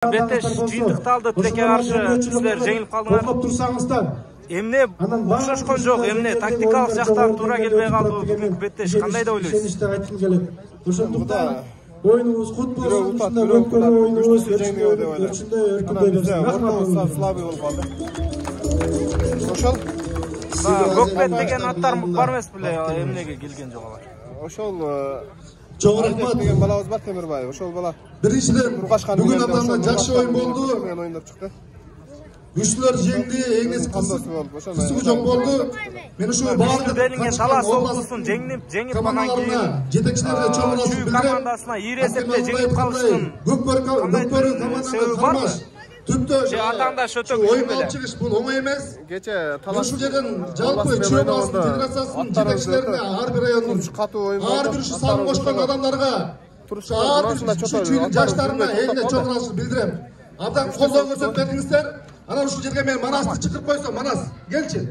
Беттеш жыйынтыкталды, тилекке каршы силер жеңилип калдыңар. Токтоп турсаңыздар. Эмне окшошкон жок, эмне тактикалык жактан туура келбей калды бүгүнкү Беттеш, кандай деп ойлойсуз? Ишеничте айткым келет. Ошондуктан оюнубуз кут болсун, өткөн оюнубуз өрчүндөй өркүндөй берсин. Рахмат. Слабый болуп калды. Ошол Көкбет деген аттар бар эмес беле, эмнеге келген жок алар? Ошол Чоң рахмат деген балабыз бар, Темирбаев. Ошол бала биринчиден бүгүн абдан жакшы оюн болду. Мен оюндап чыкты. Күчтөр жеңди, эңиз кысуу жок болду. Мен ушул баардык делинген талаш соолкусун жеңип анан кийин жетекчилерге чоң ыраазычылык Чүй командасына ийир эсепте жеңип калыштын көкбөрү командасына түптө атаандаш өтө оюн алып чыгыш бул оңой эмес. Кече талаш Ушул жерден жалпы Чүй областын федерациясынын жетекчилерине ар бир райондун катуу оюн болду. ар бир ушу салым кошкон адамдарга ар бир чүйдүн жаштарына элине чоң ыраазычылык билдирем. Абдан колдоо көрсөтүп бердиңиздер. Анан ушул жерге мен Манасты чакырып койсом, Манас, келчи.